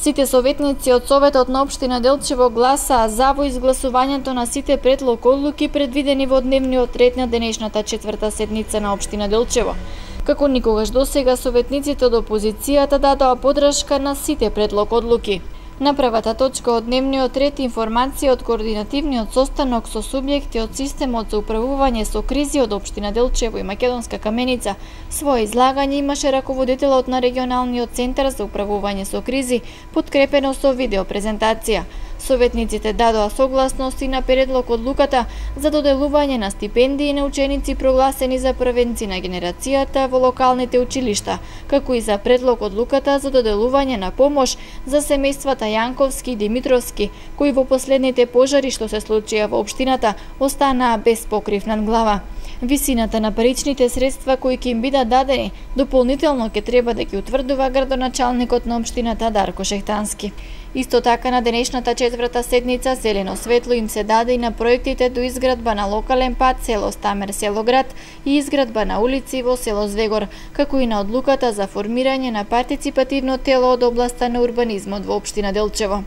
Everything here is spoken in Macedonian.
Сите советници од Советот на општина Делчево гласаа за во изгласувањето на сите предлог одлуки предвидени во дневниот ред на денешната 4-та седница на општина Делчево. Како никогаш досега, советниците од опозицијата дадоа подршка на сите предлог одлуки. На првата точка од дневниот ред информација од координативниот состанок со субјекти од системот за управување со кризи од општина Делчево и Македонска Каменица, свое излагање имаше раководителот на регионалниот центар за управување со кризи, подкрепено со видеопрезентација. Советниците дадоа согласност и на предлог одлуката за доделување на стипендии на ученици прогласени за првенци на генерацијата во локалните училишта, како и за предлог одлуката за доделување на помош за семејствата Јанковски и Димитровски, кои во последните пожари што се случија во општината останаа без покрив над глава. Висината на паричните средства кои ќе им бидат дадени дополнително ќе треба да ги утврдува градоначалникот на општината Дарко Шехтански. Исто така на денешната 4-та седница зелено светло им се даде и на проектите до изградба на локален пат село Стамер село Град и изградба на улици во село Звегор, како и на одлуката за формирање на партиципативно тело од областа на урбанизмот во општина Делчево.